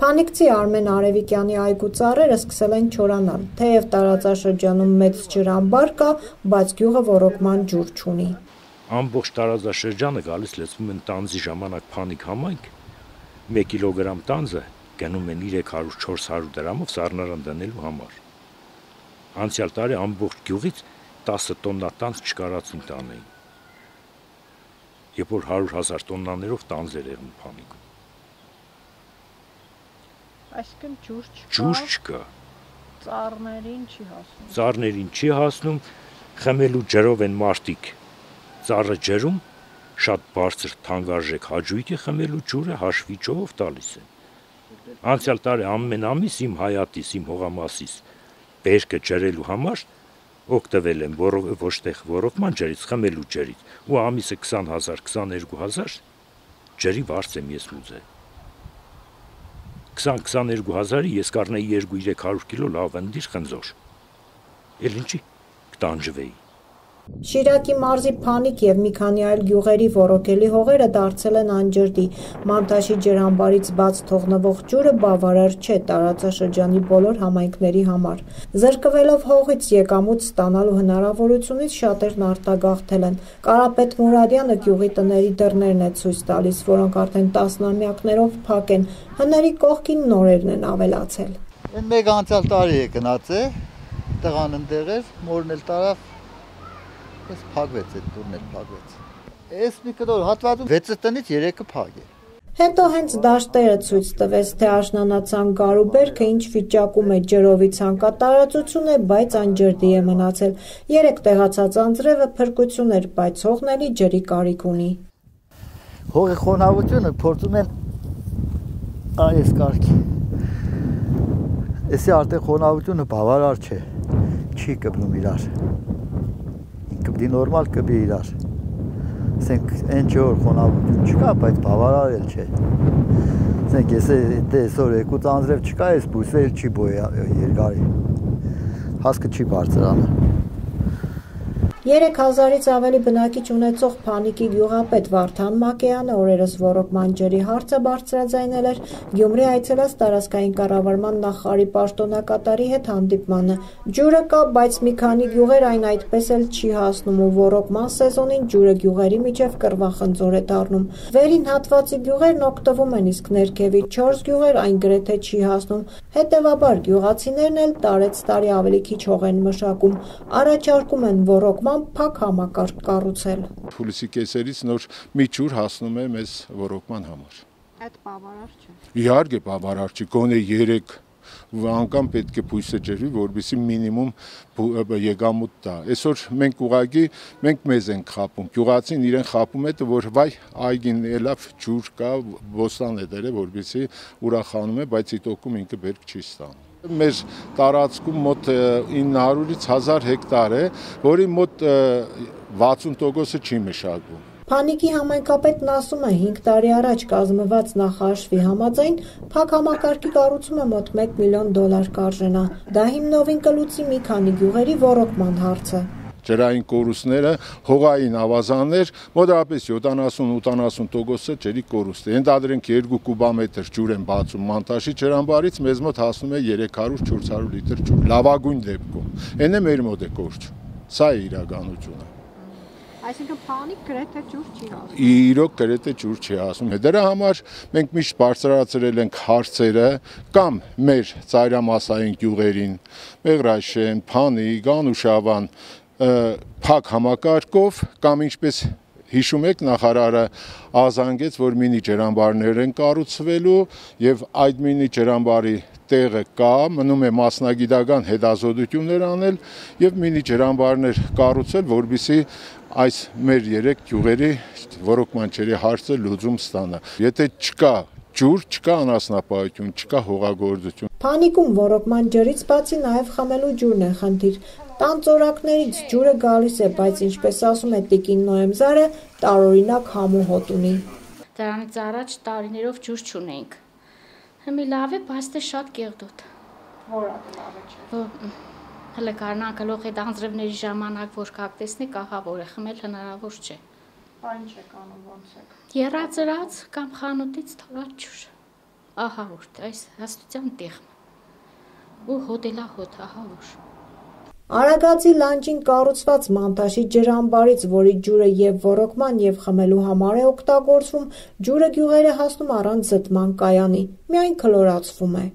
Փանիկցի Արմեն Արևիկյանի այգու ծառերը սկսել են չորանալ, թեև տարածաշրջանում մեծ ջրամբար կա, բայց գյուղը ոռոգման ջուր չունի։ Ամբողջ տարածաշրջանը գալիս լցվում են տանձի ժամանակ Փանիկ համայնք, 1 կիլոգրամ տանձը գնում են 300-400 դրամով սառնարան դնելու համար։ Անցյալ տարի ամբողջ գյուղից 10 տոննա տանձ չկարածին տանեին, երբ որ 100,000 տոննաներով տանձ էր եղնում Փանիկում։ Այսինքն ջուր չկա, ծառներին չի հասնում, խմելու ջրով են մարդիկ ծառը ջրում, շատ բարձր թանկարժեք հաճույքի խմելու ջուրը հաշվի ճով տալիս են։ Անցյալ տարի ամեն ամիս իմ հայատիս, իմ հողամասիս բերքը ջրելու համար օգտվել եմ ոչ թե ոռոգման ջրից, խմելու ջրից, ու ամիսը 20,000-22,000 ջրի վարձ եմ ես ուզել։ 20-22,000-ի ես կառնեի 200-300 կիլո լավ ընդիր խնձոր, էլ ինչի կտանջվեի։ Շիրակի մարզի Փանիկ և մի քանի այլ գյուղերի ոռոգելի հողերը դարձել են անջրդի, Մանտաշի ջրամբարից բաց թողնվող ջուրը բավարար չէ տարածաշրջանի բոլոր համայնքների համար։ Զրկվելով հողից եկամուտ ստանալու հնարավորությունից շատերն արտագաղթել են։ Կարապետ Մուրադյանը գյուղի տների դռներն է ցույց տալիս, որոնք արդեն տասնամյակներով փակ են, հների կողքին նորերն են ավելացել։ Մեկ անցյալ տարի է գնացել, տղան ընդեղ էր, մորն էլ տարավ, ես փակվեց, այդ դուրն էլ փակվեց։ Այս մի կտոր հատվածում 6 տնից 3-ը փակ է։ Հետո հենց դաշտերը ցույց տվեց, թե աշնանացան գարուբերքը ինչ վիճակում է, ջրովի ցանկատարածություն է, բայց անջրդի է մնացել։ 3 տեղացած անձրևը փրկություն էր, բայց հողն էլի ջրի կարիք ունի։ Հողի խոնավությունը փորձում են այս կարգի։ Էսի արդեն խոնավությունը բավարար չէ, չի կպնում իրար։ Կպդի նորմալ կպի իրար։ Ասենք այն չէ որ խոնավություն չկա, բայց բավարար էլ չէ։ Ասենք այսօր 2 անձրև չկա, այս բույսը էլ չի երկարի։ Հասկը չի բարձրանում։ 3000-ից ավելի բնակիչ ունեցող Փանիկի գյուղապետ Վարդան Մակեյանը օրերս ոռոգման ջրի հարցը բարձրաձայնել էր Գյումրի այցելած տարածքային կառավարման նախարարի պաշտոնակատարի հետ հանդիպմանը։ Ջուրը կա, բայց մի քանի գյուղեր այն այդպես էլ չի հասնում ու ոռոգման սեզոնին ջուրը գյուղերի միջև կռվախնձոր է դառնում։ Վերին հատվածի գյուղերն օգտվում են, իսկ ներքևի 4 գյուղեր այն գրեթե չի հասնում։ Հետևաբար գյուղացիներն էլ տարեց տարի ավելի քիչ հող են մշակում, առաջարկում են ոռոգման փակ համակարգ կառուցել։ Հուլիսի կեսերից նոր մի ջուր հասնում է մեզ ոռոգման համար։ Այդ բավարար չէ։ Իհարկե բավարար չի, գոնե 3 անգամ պետք է բույսը ջրվի, որպեսզի մինիմում եկամուտ տա։ Այսօր մենք ուղղակի մեզ ենք խաբում, գյուղացին իրեն խաբում է, որ վայ այգին լավ ջուր կա, բոստան է դրել, որպեսզի ուրախանում է, բայց իտոքում ինքը բերք չի ստանում։ Մեր տարածքում մոտ 900-ից 1000 հեկտար է, որի մոտ 60%-ը չի մշակվում։ Փանիկի համայնքապետն ասում է 5 տարի առաջ կազմված նախաշվի համաձայն փակ համակարգի կառուցումը մոտ $1 միլիոն կարժենա։ Դա հիմնովին կլուծի մի քանի գյուղերի ոռոգման հարցը։ Ջրային կորուստները, հողային ավազաններ, մոտավորապես 70-80%-ը ջրի կորուստ է։ Ենթադրենք 2 կուբամետր ջուր են բացում Մանտաշի ջրամբարից, մեզ մոտ հասնում է 300-400 լիտր ջուր, լավագույն դեպքում։ Այն է մեր մոտ է կորչ։ Սա է իրականությունը։ Այսինքն Փանիկ գրեթե ջուր չի հասնում։ Իրոք գրեթե ջուր չի հասնում։ Դրա համար մենք միշտ բարձրացրել ենք հարցերը կամ մեր ծայրամասային գյուղերին, Մեղրաշեն, Փանիկ, Անուշավան, փակ համակարգով կամ ինչպես հիշում եք նախարարը ազանգեց, որ մինի ջրամբարներ են կառուցվելու եւ այդ մինի ջրամբարի տեղը կա, մնում է մասնագիտական հետազոտություններ անել եւ մինի ջրամբարներ կառուցել, որպեսզի այս մեր 3 գյուղերի ոռոգման ջրի հարցը լուծում ստանա։ Եթե չկա ջուր, չկա անասնապահություն, չկա հողագործություն։ Փանիկում ոռոգման ջրից բացի նաև խմելու ջուրն է խնդիր։ Տան ծորակներից ջուրը գալիս է, բայց ինչպես ասում է Տիկին Նոեմզարը, տարօրինակ համու հոտ ունի։ Դրանից առաջ տարիներով ջուր չունեինք։ Հիմա լավ է, բայց դե շատ կեղտոտ։ Որը լավ է չէ։ Հələ կարնան գլուխի դանձրևների ժամանակ որ կակտեսնի կաղավոր է, խմել հնարավոր չէ։ Այն չեք անում ոնց եք։ Եռածրած կամ խանութից թողած ջուր։ Ահա որ այս հաստության տիղմ։ Ու հոդելա հոդ, ահա որ։ Արագածի լանջին կառուցված մանտաշի ջրամբարից, որի ջուրը եւ ոռոգման եւ խմելու համար է օգտագործվում, ջուրը գյուղեր է հասնում առանց զտման կայանի, միայն քլորացվում է։